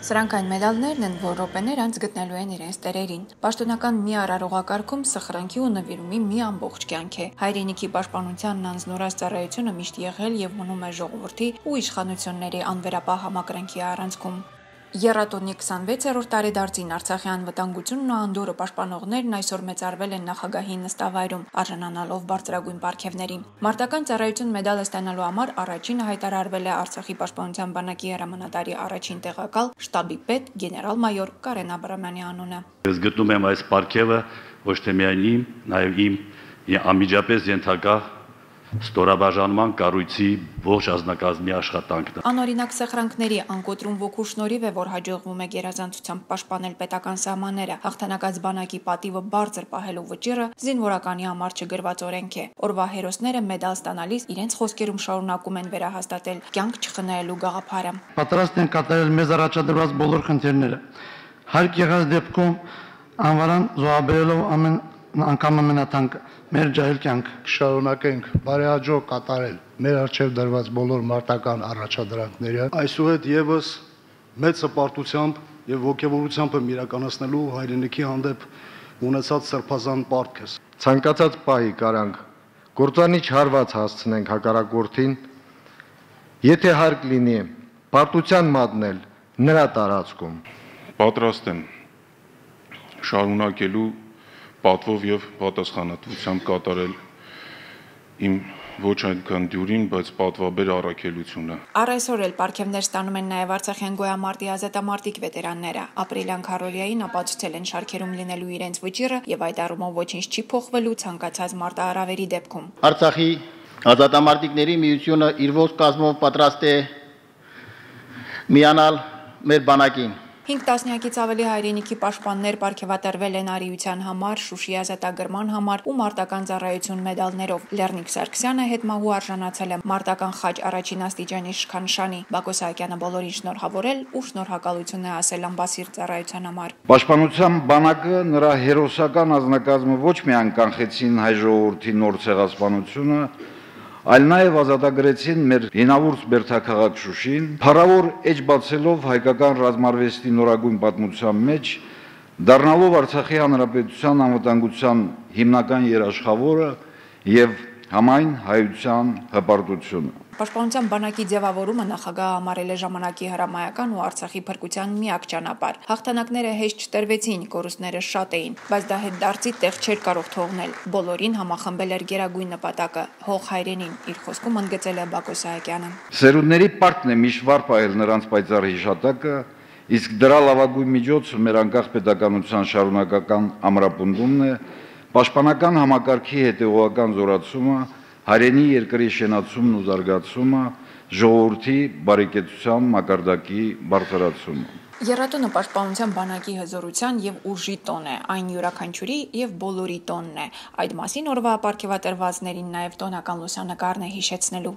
Սրանք այն մեդալներն են, որ րոպեներ անց գտնելու են իրենց տերերին։ Պաշտոնական մի արարողակարգում սխրանքի ու նվիրումի մի ամբողջ կյանք է։ Հայրենիքի պաշտպանությանն անձնորոշ ծառայությունը միշտ եղել եւ մնում է ժողովրդի ու իշխանությունների անվերապահ համակրանքի առանցքում։ Եռատոնի 26-րդ տարեդարձին Արցախի անվտանգությունն ու անդորը պաշտպանողներն այսօր մեծարվել են նախագահի նստավայրում, արժանանալով բարձրագույն պարգևների։ Մարտական ծառայություն մեդալը ստանալու համար առաջինը հայտարարվել է Արցախի պաշտպանության բանակի հրամանատարի առաջին տեղակալ շտաբի պետ գեներալ-մայոր Կարեն Աբրամյանի անունը։ Ես գտնում եմ այս պարգևը ոչ թե միայն իմ, նաև իմ անմիջապես ենթակա ստորաբաժանման կառույցի ողջ ազնագազմի աշխատանքն է։ Անօրինակ սխրանքների անկոտրում ոգու շնորհիվ է, որ հաջողվում է գերազանցությամբ պաշտպանել պետական սահմանները։ Հաղթանակած բանակի պատիվը բարձր պահելու վճիռը զինվորականի համար չգրված օրենք է։ Օրվա հերոսները մեդալ ստանալիս իրենց խոսքերում շարունակում են վերահաստատել կյանք չխնայելու գաղափարը։ Պատրաստ են կատարել մեզ առաջադրված բոլոր խնդիրները։ Հարկ եղած դեպքում անվարան զոհաբերելով ամեն անգամ ամենաթանկը մեր ջահել կյանք շարունակենք բարեհաջող կատարել մեր արժև դրված բոլոր մարտական առաջադրանքները, այսուհետ եւս մեծ հպարտությամբ եւ ողջավորությամբ եմ իրականացնելու հայրենիքի հանդեպ ունեցած սրբազան պարտքս։ Ցանկացած պահի կարանք գործանիչ հարված հասցնենք հակառակորդին, եթե հարկ լինի պարտության մատնել նրա տարածքում։ Պատրաստ եմ շարունակելու պատվով եւ պատասխանատվությամբ կատարել իմ ոչ այնքան դյուրին, բայց պատվաբեր առաքելությունը։ Առ այսօր էլ պարգևներ ստանում են նաև Արցախյան գոյամարտի ազատամարտիկ վետերանները։ Ապրիլյան քարորիային ապացուցել են շարքերում լինելու իրենց վճիռը եւ այդ առումով ոչինչ չի փոխվելու ցանկացած մարտահրավերի դեպքում։ Արցախի ազատամարտիկների միությունը իր ողջ կազմով պատրաստ է միանալ մեր բանակին։ 5 տասնյակից ավելի հայրենիքի պաշտպաններ պարգևատրվել են արիության համար, Շուշի ազատագրման համար ու մարտական ծառայություն մեդալներով։ Լեռնիկ Սարգսյանը հետմահու արժանացել է մարտական խաչ առաջին աստիճանի իշխանշանի։ Բակո Սահակյանը բոլորին շնորհավորել ու շնորհակալություն է ասել ամբասիր ծառայության համար։ Պաշտպանության բանակը նրա հերոսական ազնագազմը ոչ միայն կանխեցին հայ ժողովրդի նոր ցեղասպանությունը, այլ նաև ազատագրեցին մեր հինավուրց բերդաքաղաք Շուշին, փառավոր էջ բացելով հայկական ռազմարվեստի նորագույն պատմության մեջ, դառնալով Արցախի հանրապետության անվտանգության հիմնական երաշխավորը եւ համայն հայության հպարտությունը։ Պաշտպանության բանակի ձևավորումը նախագահը համարել է ժամանակի հրամայական ու Արցախի փրկության միակ ճանապարհ։ Հաղթանակները հեշտ չտրվեցին, կորուստները շատ էին, բայց դա հետ դարձի տեղ չէր կարող թողնել։ Բոլորին համախմբել էր գերագույն նպատակը՝ հող հայրենին, իր խոսքում ընդգծել է Բակո Սահակյանը։ Սերունդների պարտքն է միշտ վար պահել նրանց պայծառ հիշատակը, իսկ դրա լավագույն միջոցը մեր անկախ պետականության շարունակական ամրապնդումն է, պաշտպանական համակարգի հետևողական զորացումը, հայրենի երկրի շենացումն ու զարգացումը, ժողովրդի բարեկեցության մակարդակի բարձրացումը։ Եռատոնը պաշտպանության բանակի հզորության եւ ուժի տոն է, այն յուրաքանչյուրի եւ բոլորի տոնն է։ Այդ մասին օրվա ապարգևատրվածներին նաեւ տոնական լուսանկարն է հիշեցնելու։